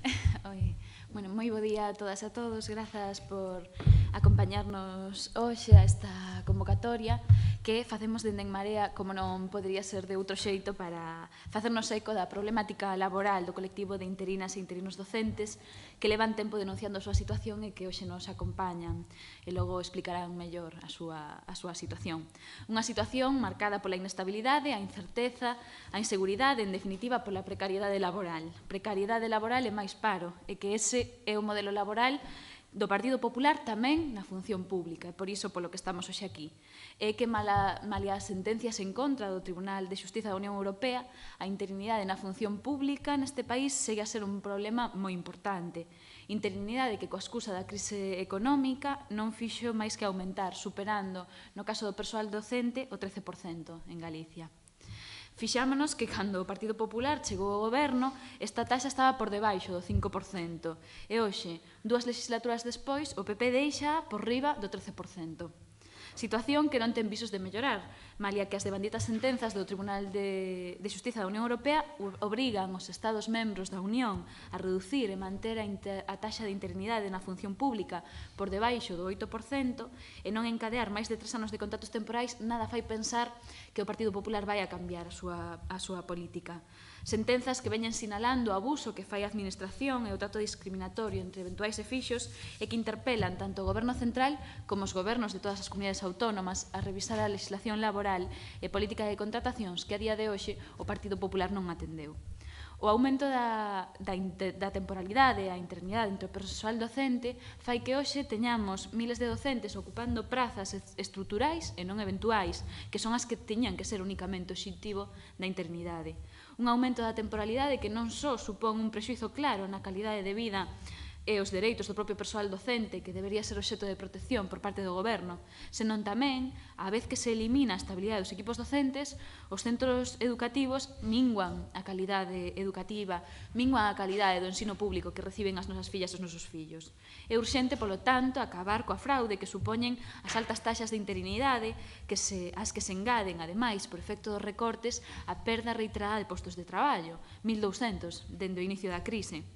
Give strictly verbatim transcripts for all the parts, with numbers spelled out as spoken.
Oi, bueno, moi bo día a todas e a todos. Grazas por acompañarnos hoxe a esta convocatoria que facemos dende En Marea, como non podería ser de outro xeito, para facernos eco da problemática laboral do colectivo de interinas e interinos docentes que levan tempo denunciando a súa situación e que hoxe nos acompañan e logo explicarán mellor a súa, a súa situación. Unha situación marcada pola inestabilidade, a incerteza, a inseguridade, en definitiva, pola precariedade laboral. Precariedade laboral e máis paro, e que ese é o modelo laboral do Partido Popular tamén na función pública, e por iso polo que estamos hoxe aquí. É que mala, malia as sentencias en contra do Tribunal de Xustiza da Unión Europea, a interinidade na función pública neste país segue a ser un problema moi importante. Interinidade que, coa excusa da crise económica, non fixo máis que aumentar, superando, no caso do persoal docente, o trece por cento en Galicia. Fixámonos que cando o Partido Popular chegou ao goberno, esta taxa estaba por debaixo do cinco por cento. E hoxe, dúas legislaturas despois, o P P deixa por riba do trece por cento. Situación que non ten visos de mellorar, malia que as devanditas sentenzas do Tribunal de, de Xustiza da Unión Europea obrigan os Estados membros da Unión a reducir e manter a, inter, a taxa de interinidade na función pública por debaixo do oito por cento e non encadear máis de tres anos de contratos temporais, nada fai pensar que o Partido Popular vai a cambiar a súa, a súa política. Sentenzas que veñen sinalando o abuso que fai a Administración e o trato discriminatorio entre eventuais e fixos e que interpelan tanto o Goberno Central como os gobernos de todas as comunidades autónomas a revisar a legislación laboral e política de contratacións que a día de hoxe o Partido Popular non atendeu. O aumento da, da, da temporalidade e a interinidade entre o persoal docente fai que hoxe teñamos miles de docentes ocupando prazas estruturais e non eventuais, que son as que teñan que ser únicamente o obxectivo da interinidade. Un aumento da temporalidade que non só supón un prexuízo claro na calidade de vida e os dereitos do propio persoal docente, que debería ser obxecto de protección por parte do goberno, senón tamén, á vez que se elimina a estabilidade dos equipos docentes, os centros educativos minguan a calidade educativa, minguan a calidade do ensino público que reciben as nosas fillas e os nosos fillos. É urxente, polo tanto, acabar coa fraude que supoñen as altas taxas de interinidade, que se, as que se engaden, ademais, por efecto dos recortes, a perda reiterada de postos de traballo, mil douscentos, dende o inicio da crise,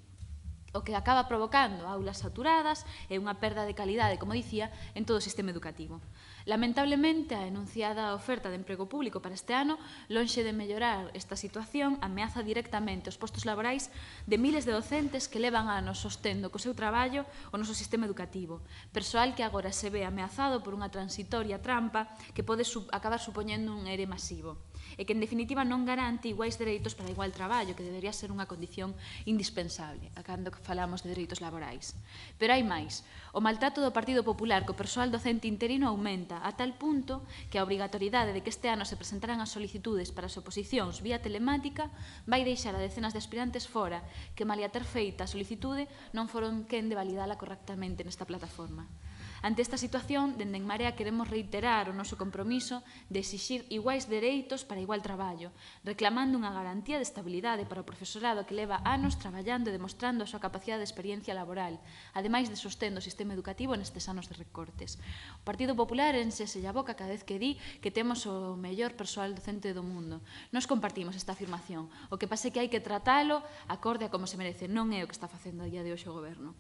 o que acaba provocando aulas saturadas e unha perda de calidade, como dicía, en todo o sistema educativo. Lamentablemente, a enunciada oferta de emprego público para este ano, lonxe de mellorar esta situación, ameaza directamente os postos laborais de miles de docentes que levan anos sostendo co seu traballo o noso sistema educativo. Persoal que agora se ve ameazado por unha transitoria trampa que pode acabar supoñendo un ere masivo e que, en definitiva, non garante iguais dereitos para igual traballo, que debería ser unha condición indispensable, cando falamos de dereitos laborais. Pero hai máis. O maltrato do Partido Popular co persoal docente interino aumenta a tal punto que a obrigatoriedade de que este ano se presentaran as solicitudes para as oposicións vía telemática vai deixar a decenas de aspirantes fora que, malia ter feita a solicitude, non foron quen de validala correctamente nesta plataforma. Ante esta situación, dende En Marea queremos reiterar o noso compromiso de exixir iguais dereitos para igual traballo, reclamando unha garantía de estabilidade para o profesorado que leva anos traballando e demostrando a súa capacidade de experiencia laboral, ademais de sostendo o sistema educativo nestes anos de recortes. O Partido Popular enxese a boca cada vez que di que temos o mellor persoal docente do mundo. Nos compartimos esta afirmación. O que pasa é que hai que tratalo acorde a como se merece. Non é o que está facendo a día de hoxe o Goberno.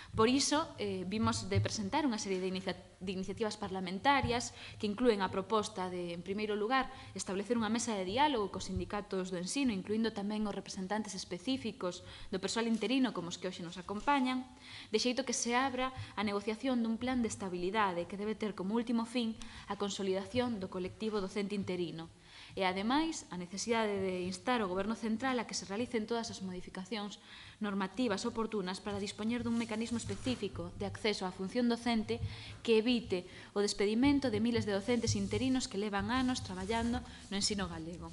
Por iso, eh, vimos de presentar unha serie de, inicia de iniciativas parlamentarias que inclúen a proposta de, en primeiro lugar, establecer unha mesa de diálogo cos sindicatos do ensino, incluindo tamén os representantes específicos do persoal interino como os que hoxe nos acompañan, de xeito que se abra a negociación dun plan de estabilidade que debe ter como último fin a consolidación do colectivo docente interino. E, ademais, a necesidade de instar o Goberno Central a que se realicen todas as modificacións normativas oportunas para dispoñer dun mecanismo específico de acceso á función docente que evite o despedimento de miles de docentes interinos que levan anos traballando no ensino galego.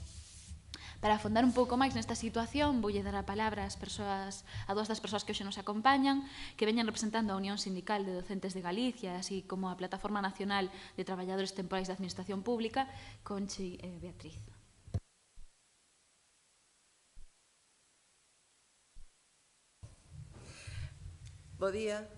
Para afondar un pouco máis nesta situación, voulle dar a palabra ás persoas, a dúas das persoas que hoxe nos acompañan, que veñan representando a Unión Sindical de Docentes de Galicia, así como a Plataforma Nacional de Traballadores Temporais da Administración Pública, Conchi e Beatriz. Bo día.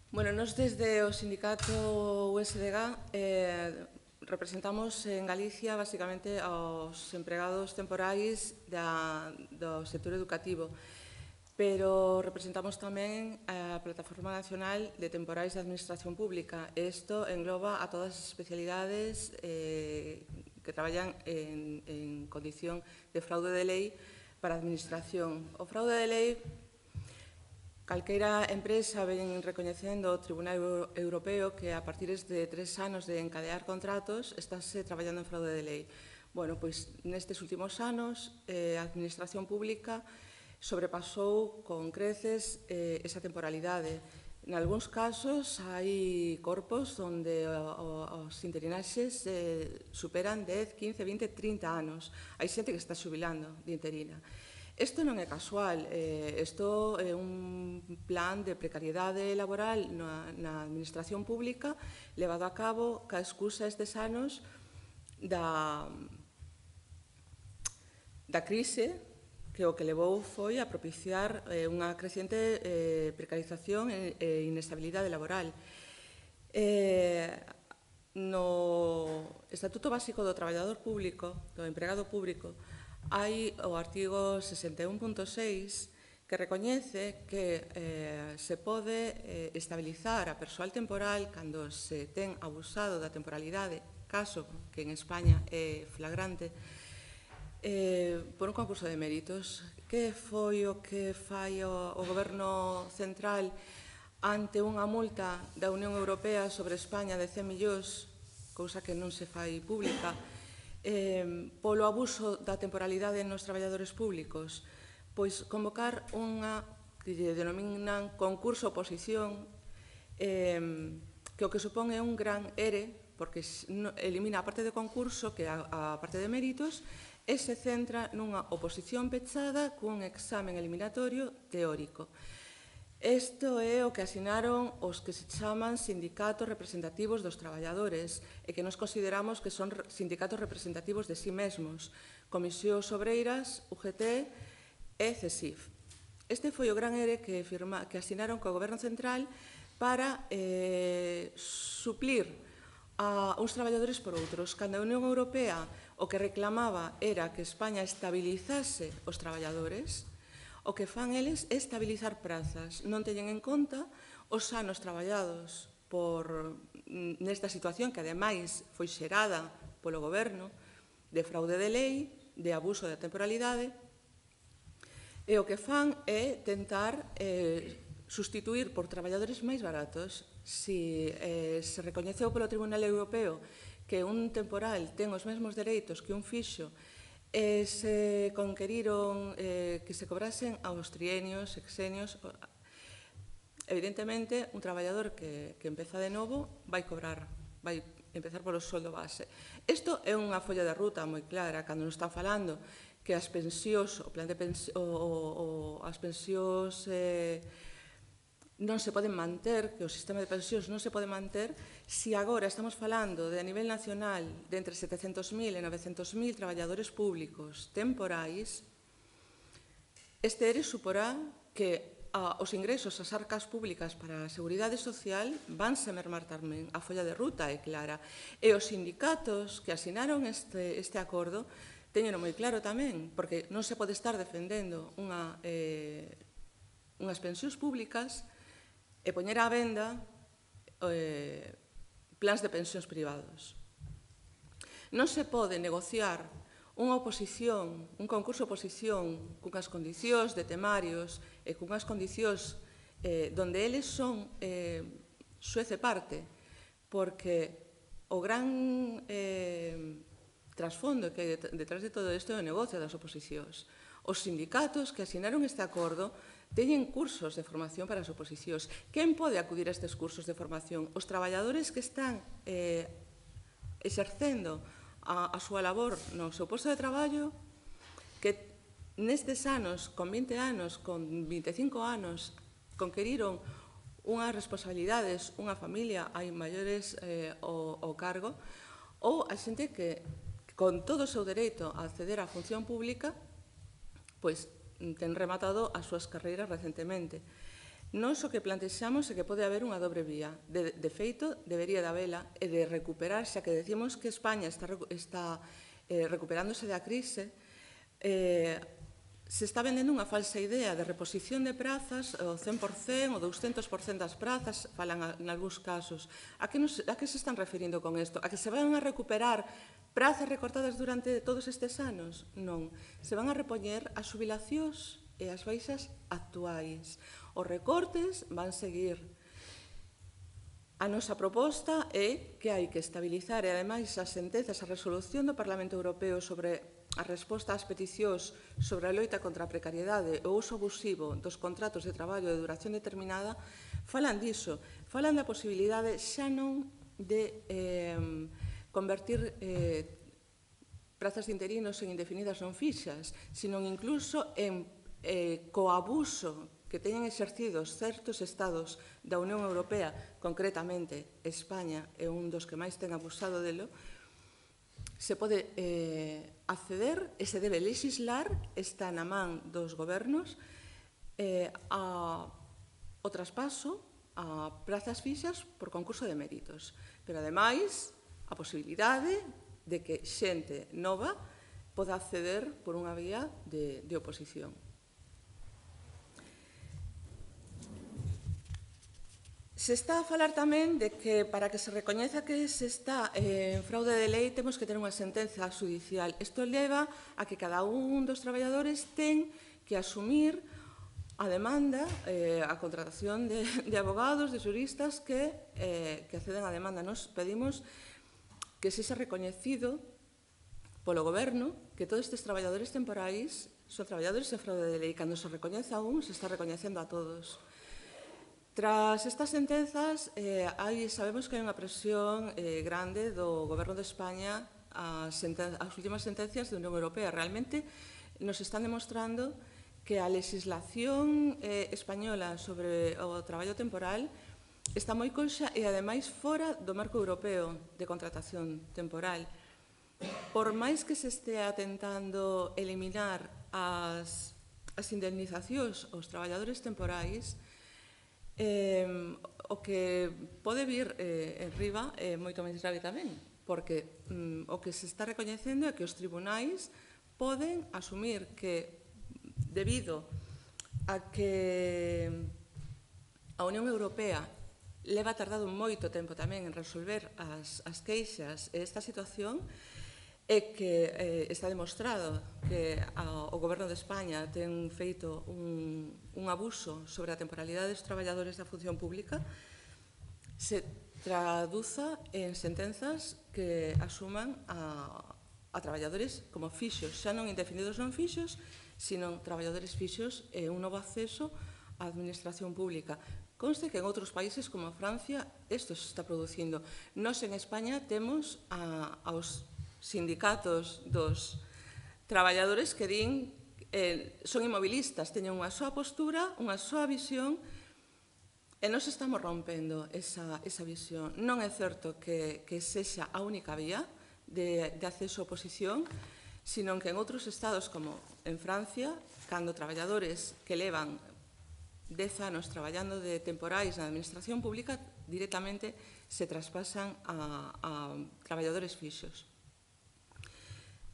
Bueno, nos desde o sindicato U S D G eh, representamos en Galicia basicamente aos empregados temporais da, do sector educativo. pero representamos tamén a Plataforma Nacional de Temporais de Administración Pública. Isto engloba a todas as especialidades eh, que traballan en, en condición de fraude de lei para a administración. O fraude de lei, calqueira empresa ven recoñecendo o Tribunal Europeo que a partir de tres anos de encadear contratos estáse traballando en fraude de lei. Bueno, pois nestes últimos anos eh, a administración pública sobrepasou con creces eh, esa temporalidade. En algúns casos hai corpos onde os interinaxes eh, superan dez, quince, vinte, trinta anos. Hai xente que está xubilando de interina. Isto non é casual, isto eh, é un plan de precariedade laboral na, na administración pública levado a cabo ca excusa estes anos da, da crise, que o que levou foi a propiciar eh, unha creciente eh, precarización e, e inestabilidade laboral. Eh, no Estatuto Básico do Traballador Público, do empregado público, hai o artigo sesenta e un punto seis que recoñece que eh, se pode eh, estabilizar a persoal temporal cando se ten abusado da temporalidade, caso que en España é flagrante, Eh, por un concurso de méritos. Que foi o que fai o, o Goberno Central ante unha multa da Unión Europea sobre España de cen millóns, cousa que non se fai pública, eh, polo abuso da temporalidade nos traballadores públicos? Pois convocar unha que lle denominan concurso oposición, eh, que o que supón é un gran ere, porque elimina a parte de concurso, que é a, a parte de méritos, e se centra nunha oposición pechada cun examen eliminatorio teórico. Isto é o que asinaron os que se chaman sindicatos representativos dos traballadores e que nos consideramos que son sindicatos representativos de sí mesmos, Comisións Obreiras, U G T e CESIF. Este foi o gran ere que, firma, que asinaron co Goberno Central para eh, suplir a uns traballadores por outros. Cando a Unión Europea o que reclamaba era que España estabilizase os traballadores, o que fan eles é estabilizar prazas. Non teñen en conta os anos traballados por nesta situación que, ademais, foi xerada polo Goberno de fraude de lei, de abuso da temporalidade, e o que fan é tentar eh, sustituir por traballadores máis baratos. Si eh, se recoñeceu polo Tribunal Europeo que un temporal ten os mesmos dereitos que un fixo e se conqueriron eh, que se cobrasen aos trienios, sexenios, evidentemente un traballador que, que empeza de novo vai cobrar, vai empezar polo soldo base. Isto é unha folla de ruta moi clara cando nos están falando que as pensións, o plan de pensións, o, o, as pensións eh, non se poden manter, que o sistema de pensións non se pode manter, se agora estamos falando de a nivel nacional de entre setecentos mil e novecentos mil traballadores públicos temporais, este ere suporá que a, os ingresos ás arcas públicas para a Seguridade Social vanse mermar tamén. A folla de ruta é clara. E os sindicatos que asinaron este, este acordo teñeno moi claro tamén, porque non se pode estar defendendo unha, eh, unhas pensións públicas e poñer á venda eh, plans de pensións privados. Non se pode negociar unha oposición, un concurso de oposición cunhas condicións de temarios e cunhas condicións eh, donde eles son eh, xuez e parte, porque o gran eh, trasfondo que hai detrás de todo isto é o negocio das oposicións. Os sindicatos que asinaron este acordo teñen cursos de formación para as oposicións. Quen pode acudir a estes cursos de formación? Os traballadores que están eh, exercendo a, a súa labor no seu posto de traballo, que nestes anos, con vinte anos, con vinte e cinco anos, conqueriron unhas responsabilidades, unha familia, hai maiores eh, ao, ao cargo, ou a xente que, con todo o seu dereito a acceder á función pública, pois ten rematado as súas carreiras recentemente. Nós o que plantexamos é que pode haber unha dobre vía. De, de feito, debería de habela e de recuperar, xa que decimos que España está, está eh, recuperándose da crise, eh, se está vendendo unha falsa idea de reposición de prazas, o cen por cen, o douscentos por cen das prazas, falan en algúns casos. A que, nos, a que se están referindo con isto? A que se van a recuperar prazas recortadas durante todos estes anos? Non. Se van a repoñer as xubilacións e as baixas actuais. Os recortes van seguir. A nosa proposta é que hai que estabilizar e, ademais, as sentenzas, a resolución do Parlamento Europeo sobre a resposta ás peticións sobre a loita contra a precariedade e o uso abusivo dos contratos de traballo de duración determinada falan diso, falan da posibilidade xa non de eh, convertir eh, prazas de interinos en indefinidas non fixas, sino incluso en eh, coabuso que teñen exercidos certos estados da Unión Europea, concretamente España é un dos que máis ten abusado delo, se pode eh, acceder e se debe legislar, está na man dos gobernos, eh, a, o traspaso a prazas fixas por concurso de méritos. Pero, ademais, a posibilidade de que xente nova poda acceder por unha vía de, de oposición. Se está a falar tamén de que para que se recoñeza que se está en fraude de lei temos que ter unha sentenza judicial. Isto leva a que cada un dos traballadores ten que asumir a demanda, eh, a contratación de, de abogados, de xuristas que, eh, que acceden á demanda. Nos pedimos que se xa recoñecido polo goberno que todos estes traballadores temporais son traballadores en fraude de lei. Cando se recoñece a un, se está recoñecendo a todos. Tras estas sentenzas, eh, hai, sabemos que hai unha presión eh, grande do Goberno de España ás, as últimas sentencias da Unión Europea. Realmente nos están demostrando que a legislación eh, española sobre o traballo temporal está moi coxa e, ademais, fora do marco europeo de contratación temporal. Por máis que se estea tentando eliminar as, as indemnizacións aos traballadores temporais, Eh, o que pode vir eh, en riba é moito máis grave tamén, porque mm, o que se está recoñecendo é que os tribunais poden asumir que, debido a que a Unión Europea leva tardado moito tempo tamén en resolver as, as queixas e esta situación, é que eh, está demostrado que a, o Goberno de España ten feito un, un abuso sobre a temporalidade dos traballadores da función pública, se traduza en sentenzas que asuman a, a traballadores como fixos, xa non indefinidos non fixos, sino traballadores fixos e un novo acceso á administración pública. Conste que en outros países como Francia isto se está producindo. Nós en España temos a, aos sindicatos dos traballadores que din eh, son inmobilistas, teñen unha súa postura, unha súa visión e nós estamos rompendo esa, esa visión. Non é certo que, que sexa a única vía de, de acceso a oposición, sino que en outros estados como en Francia, cando traballadores que levan dez anos traballando de temporais na administración pública directamente se traspasan a, a traballadores fixos.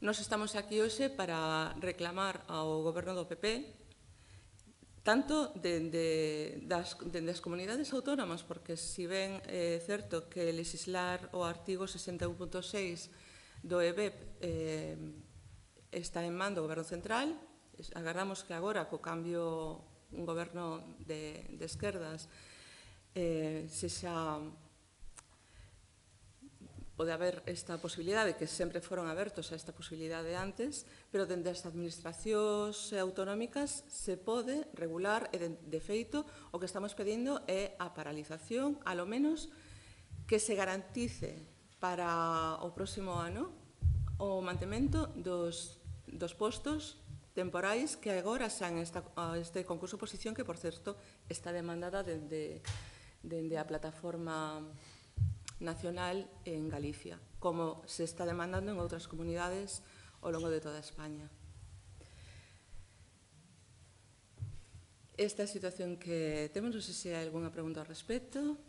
Nos estamos aquí hoxe para reclamar ao Goberno do P P tanto dende das, dende as comunidades autónomas, porque si ben é certo que legislar o artigo sesenta e un punto seis do E B E P eh, está en man do Goberno Central, agardamos que agora, co cambio un goberno de, de esquerdas, eh, se xa pode haber esta posibilidade, que sempre foron abertos a esta posibilidade antes, pero dende as administracións autonómicas se pode regular e, de, de feito, o que estamos pedindo é a paralización, alo menos que se garantice para o próximo ano o mantemento dos, dos postos temporais que agora xan esta, este concurso de oposición que, por certo, está demandada dende, dende a plataforma nacional en Galicia, como se está demandando en outras comunidades ao longo de toda España. Esta é a situación que temos, non sei se hai algunha pregunta ao respecto.